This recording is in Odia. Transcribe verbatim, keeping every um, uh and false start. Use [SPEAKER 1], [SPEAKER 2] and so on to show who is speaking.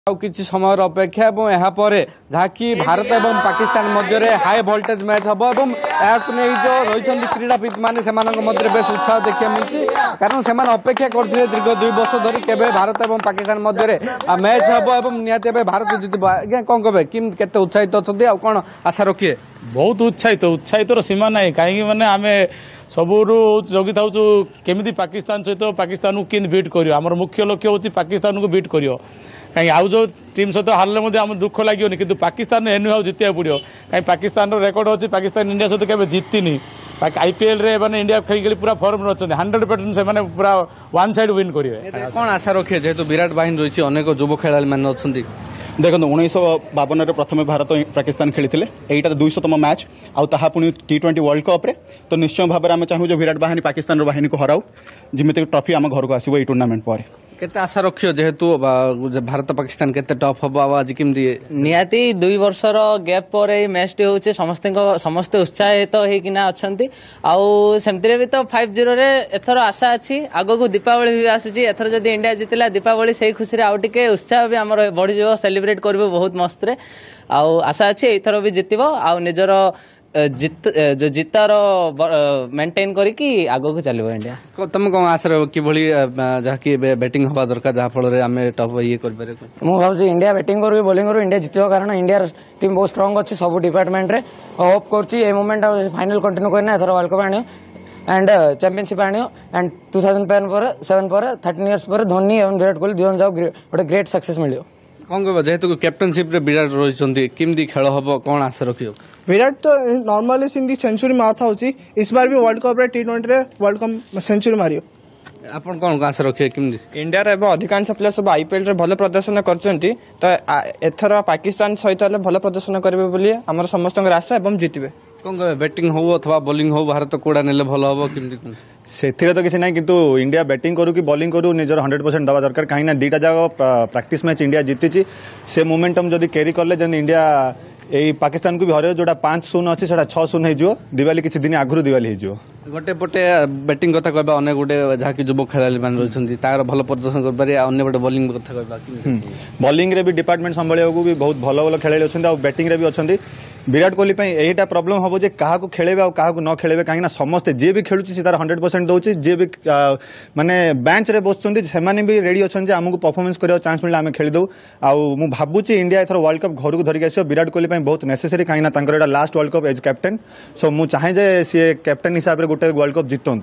[SPEAKER 1] ଆଉ କିଛି ସମୟର ଅପେକ୍ଷା ଏବଂ ଏହାପରେ ଯାହାକି ଭାରତ ଏବଂ ପାକିସ୍ତାନ ମଧ୍ୟରେ ହାଇ ଭୋଲ୍ଟେଜ ମ୍ୟାଚ୍ ହେବ ଏବଂ ଏହାକୁ ନେଇ ଯେଉଁ ରହିଛନ୍ତି କ୍ରୀଡ଼ାବିତ୍ ମାନେ ସେମାନଙ୍କ ମଧ୍ୟରେ ବେଶ ଉତ୍ସାହ ଦେଖିବାକୁ ମିଳୁଛି କାରଣ ସେମାନେ ଅପେକ୍ଷା କରିଥିଲେ ଦୀର୍ଘ ଦୁଇ ବର୍ଷ ଧରି କେବେ ଭାରତ ଏବଂ ପାକିସ୍ତାନ ମଧ୍ୟରେ ମ୍ୟାଚ୍ ହେବ ଏବଂ ନିହାତି ଭାବେ ଭାରତ ଜିତିବ ଆଜ୍ଞା କ'ଣ କହିବେ କେମିତି କେତେ ଉତ୍ସାହିତ ଅଛନ୍ତି ଆଉ କ'ଣ ଆଶା ରଖିବେ
[SPEAKER 2] ବହୁତ ଉତ୍ସାହିତ ଉତ୍ସାହିତର ସୀମା ନାହିଁ କାହିଁକି ମାନେ ଆମେ ସବୁରୁ ଜଗିଥାଉଛୁ କେମିତି ପାକିସ୍ତାନ ସହିତ ପାକିସ୍ତାନକୁ କେମିତି ବିଟ୍ କରିବ ଆମର ମୁଖ୍ୟ ଲକ୍ଷ୍ୟ ହେଉଛି ପାକିସ୍ତାନକୁ ବିଟ୍ କରିବ କାହିଁକି ଆଉ ଯେଉଁ ଟିମ୍ ସହିତ ହାରିଲେ ମଧ୍ୟ ଆମ ଦୁଃଖ ଲାଗିବନି କିନ୍ତୁ ପାକିସ୍ତାନ ଏନୁ ଆଉ ଜିତିବାକୁ ପଡ଼ିବ କାହିଁକି ପାକିସ୍ତାନର ରେକର୍ଡ଼ ଅଛି ପାକିସ୍ତାନ ଇଣ୍ଡିଆ ସହିତ କେବେ ଜିତିନି ଆଇପିଏଲ୍ରେ ମାନେ ଇଣ୍ଡିଆ ଖେଳି ଖେଳି ପୁରା ଫର୍ମରେ ଅଛନ୍ତି ହଣ୍ଡ୍ରେଡ଼ ପରସେଣ୍ଟ ସେମାନେ ପୁରା ୱାନ୍ ସାଇଡ୍ ୱିନ୍ କରିବେ
[SPEAKER 1] କ'ଣ ଆଶା ରଖିବେ ଯେହେତୁ ବିରାଟ ବାହିନୀ ରହିଛି ଅନେକ ଯୁବ ଖେଳାଳି ମାନେ ଅଛନ୍ତି
[SPEAKER 3] ଦେଖନ୍ତୁ ଉଣେଇଶହ ବାବନରେ ପ୍ରଥମେ ଭାରତ ପାକିସ୍ତାନ ଖେଳିଥିଲେ ଏଇଟା ଦୁଇଶହତମ ମ୍ୟାଚ୍ ଆଉ ତାହା ପୁଣି ଟି ଟ୍ୱେଣ୍ଟି ୱାର୍ଲଡ କପ୍ରେ ତ ନିଶ୍ଚୟ ଭାବରେ ଆମେ ଚାହୁଁ ଯେ ବିରାଟ ବାହିନୀ ପାକିସ୍ତାନର ବାହିନୀକୁ ହରାଉ ଯେମିତିକି ଟ୍ରଫି ଆମ ଘରକୁ ଆସିବ ଏଇ ଟୁର୍ଣ୍ଣାମେଣ୍ଟ ପରେ
[SPEAKER 1] କେତେ ଆଶା ରଖିବ ଯେହେତୁ ଭାରତ ପାକିସ୍ତାନ କେତେ ଟଫ୍ ହବ ଆଉ ଆଜି କେମିତି
[SPEAKER 4] ନିହାତି ଦୁଇ ବର୍ଷର ଗ୍ୟାପ୍ ପରେ ଏଇ ମ୍ୟାଚ୍ଟି ହେଉଛି ସମସ୍ତଙ୍କ ସମସ୍ତେ ଉତ୍ସାହିତ ହେଇକିନା ଅଛନ୍ତି ଆଉ ସେମିତିରେ ବି ତ ଫାଇଭ୍ ଜିରୋରେ ଏଥର ଆଶା ଅଛି ଆଗକୁ ଦୀପାବଳି ବି ଆସୁଛି ଏଥର ଯଦି ଇଣ୍ଡିଆ ଜିତିଲା ଦୀପାବଳି ସେଇ ଖୁସିରେ ଆଉ ଟିକେ ଉତ୍ସାହ ବି ଆମର ବଢ଼ିଯିବ ସେଲିବ୍ରେଟ୍ କରିବୁ ବହୁତ ମସ୍ତରେ ଆଉ ଆଶା ଅଛି ଏଇଥର ବି ଜିତିବ ଆଉ ନିଜର ଜିତ ଯୋଉ ଜିତାର ମେଣ୍ଟେନ୍ କରିକି ଆଗକୁ ଚାଲିବ ଇଣ୍ଡିଆ
[SPEAKER 1] ତମେ କ'ଣ ଆଶା ରହିବ କିଭଳି ଯାହାକି ଏବେ ବ୍ୟାଟିଂ ହେବା ଦରକାର ଯାହାଫଳରେ ଆମେ ଟପ୍ ଇଏ କରିପାରିବା
[SPEAKER 5] ମୁଁ ଭାବୁଛି ଇଣ୍ଡିଆ ବ୍ୟାଟିଂ କରୁ କି ବୋଲିଂ କରୁ ଇଣ୍ଡିଆ ଜିତିବ କାରଣ ଇଣ୍ଡିଆର ଟିମ୍ ବହୁତ ଷ୍ଟ୍ରଙ୍ଗ ଅଛି ସବୁ ଡିପାର୍ଟମେଣ୍ଟରେ ହୋପ୍ କରୁଛି ଏ ମୁଭମେଣ୍ଟ ଫାଇନାଲ କଣ୍ଟିନ୍ୟୁ କରିନା ଏଥର ୱାର୍ଲଡ କପ୍ ଆଣିବ ଆଣ୍ଡ ଚାମ୍ପିଅନସିପ୍ ଆଣିବ ଆଣ୍ଡ ଟୁ ଥାଉଜେଣ୍ଡ ଟେନ୍ ପରେ ସେଭେନ୍ ପରେ ଥାର୍ଟିନ୍ ଇୟର୍ସ ପରେ ଧୋନି ଏବଂ ବିରାଟ କୋହଲି ଦୁଇ ଜଣ ଯାକ ଗୋଟେ ଗ୍ରେଟ୍ ସକ୍ସେସ୍ ମିଳିବ
[SPEAKER 1] କ'ଣ କହିବ ଯେହେତୁ କ୍ୟାପ୍ଟେନସିପ୍ରେ ବିରାଟ ରହିଛନ୍ତି କେମିତି ଖେଳ ହବ କ'ଣ ଆଶା ରଖିବ
[SPEAKER 6] ବିରାଟ ତ ନର୍ମାଲି ସେମିତି ସେଞ୍ଚୁରୀ ମାରିଥାଉଛି इस बार भी ୱାର୍ଲଡ କପ୍ରେ ଟି ଟ୍ୱେଣ୍ଟିରେ ୱାର୍ଲଡ କପ୍ ସେଞ୍ଚୁରୀ ମାରିବ
[SPEAKER 1] ଆପଣ କ'ଣ ଆଶା ରଖିବେ କେମିତି
[SPEAKER 7] ଇଣ୍ଡିଆର ଏବେ ଅଧିକାଂଶ ପ୍ଲେୟର ସବୁ ଆଇପିଏଲ୍ରେ ଭଲ ପ୍ରଦର୍ଶନ କରିଛନ୍ତି ତ ଏଥର ପାକିସ୍ତାନ ସହିତ ହେଲେ ଭଲ ପ୍ରଦର୍ଶନ କରିବେ ବୋଲି ଆମର ସମସ୍ତଙ୍କର ଆଶା ଏବଂ ଜିତିବେ
[SPEAKER 1] କ'ଣ କହିବେ ବ୍ୟାଟିଂ ହଉ ଅଥବା ବୋଲିଂ ହଉ ଭାରତ କୋଉଟା ନେଲେ ଭଲ ହବ କେମିତି କ'ଣ
[SPEAKER 3] ସେଥିରେ ତ କିଛି ନାହିଁ କିନ୍ତୁ ଇଣ୍ଡିଆ ବ୍ୟାଟିଂ କରୁ କି ବୋଲିଂ କରୁ ନିଜର ହଣ୍ଡ୍ରେଡ଼ ପରସେଣ୍ଟ ଦେବା ଦରକାର କାହିଁକିନା ଦୁଇଟା ଯାକ ପ୍ରାକ୍ଟିସ୍ ମ୍ୟାଚ୍ ଇଣ୍ଡିଆ ଜିତିଛି ସେ ମୋମେଣ୍ଟମ୍ ଯଦି କ୍ୟାରି କଲେ ଯେମିତି ଇଣ୍ଡିଆ ଏଇ ପାକିସ୍ତାନକୁ ବି ହରେଇବ ଯୋଉଟା ପାଞ୍ଚ ଶୂନ ଅଛି ସେଟା ଛଅ ଶୂନ ହେଇଯିବ ଦିୱାଲି କିଛି ଦିନ ଆଗରୁ ଦିୱାଲି ହେଇଯିବ
[SPEAKER 1] ଗୋଟେ ପଟେ ବ୍ୟାଟିଂ କଥା କହିବା ଅନେକ ଗୋଟେ ଯାହାକି ଯୁବ ଖେଳାଳି ମାନେ ରହିଛନ୍ତି ତାର ଭଲ ପ୍ରଦର୍ଶନ କରିପାରିବେ ଆଉ ଅନ୍ୟ ପଟେ ବୋଲିଂ କଥା କହିବା
[SPEAKER 3] ବୋଲିଂରେ ବି ଡିପାର୍ଟମେଣ୍ଟ ସମ୍ଭାଳିବାକୁ ବି ବହୁତ ଭଲ ଭଲ ଖେଳାଳି ଅଛନ୍ତି ଆଉ ବ୍ୟାଟିଂରେ ବି ଅଛନ୍ତି ବିରାଟ କୋହଲି ପାଇଁ ଏଇଟା ପ୍ରୋବ୍ଲେମ୍ ହେବ ଯେ କାହାକୁ ଖେଳେଇବେ ଆଉ କାହାକୁ ନ ଖେଳେଇବେ କାହିଁକିନା ସମସ୍ତେ ଯିଏ ବି ଖେଳୁଛି ସେ ତାର ହଣ୍ଡ୍ରେଡ଼ ପରସେଣ୍ଟ ଦେଉଛି ଯିଏ ବି ମାନେ ବେଞ୍ଚରେ ବସୁଛନ୍ତି ସେମାନେ ବି ରେଡ଼ି ଅଛନ୍ତି ଯେ ଆମକୁ ପରଫର୍ମାନ୍ସ କରିବାକୁ ଚାନ୍ସ ମିଳିଲେ ଆମେ ଖେଳିଦେବୁ ଆଉ ମୁଁ ଭାବୁଛି ଇଣ୍ଡିଆ ଏଥର ୱାର୍ଲଡ କପ୍ ଘରକୁ ଧରିକି ଆସିବ ବିରାଟ କୋହଲି ପାଇଁ ବହୁତ ନେସେସରି କାହିଁକିନା ତାଙ୍କର ଏଇଟା last world cup age captain show ମୁଁ ଚାହେଁ ଯେ ସିଏ କ୍ୟାପ୍ଟେନ୍ ହିସାବରେ ଗୋଟେ ୱାର୍ଲଡ କପ୍ ଜିତନ୍ତୁ